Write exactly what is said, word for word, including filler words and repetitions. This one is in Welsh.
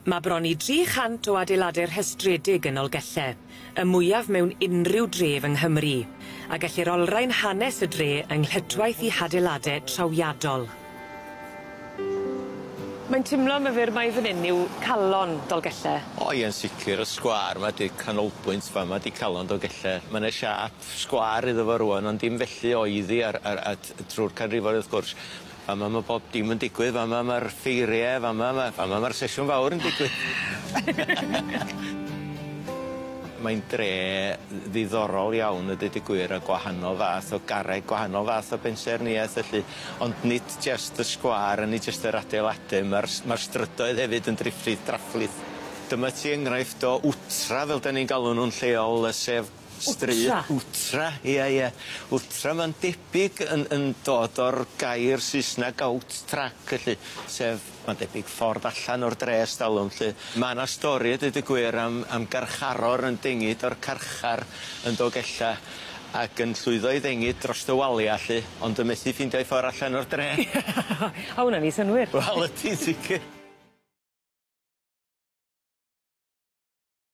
Ma' bron i dri chant o adeilade rhestredig yn Nolgelle, y mwyaf mewn unrhyw dref yng Nghymru, a gellir olrhain hanes y dre yng nghytwaith 'i hadeilade trawiadol. Mae'n timlo myfyr mai fyn 'yn yw calon Dolgelle. O ie'n sicir y sgwâr 'ma 'di canolbwynt fa' 'ma 'di calon Dolgelle. Ma' 'ne siâp sgwâr iddo fo rŵan ond dim felly oedd 'i ar ar a t- trw'r canrifoedd wrth gwrs. Fa' 'ma ma' bob dim yn digwydd fa' 'ma ma'r ffeirie fa' 'ma ma' fa' 'ma ma'r sesiwn fawr yn digwydd. Mae'n dre ddiddorol iawn a deud y gwir a gwahanol fath o garreg gwahanol fath o bensaerniaeth felly ond nid jyst y sgwâr a nid jyst yr adeilade ma'r s- ma'r strydoedd hefyd yn drifflydd drafflydd. Dyma ti enghraifft o wtra fel 'dan ni'n galw nw'n lleol yy sef stryd... Wtra? Wtra ia ia. Wtra ma'n debyg yn yn dod o'r gair Saesnag out track felly sef ma'n debyg ffordd allan o'r dre ers dalwm 'lly. Ma' 'na stori a deud y gwir am am garcharor yn dengid o'r carchar yn Dolgella ac yn llwyddo i ddengid drost y walia 'lly ond yn methu ffeindio'i ffor allan o'r dre. A wnna'n neu' synnwyr. Wel ydi sicir.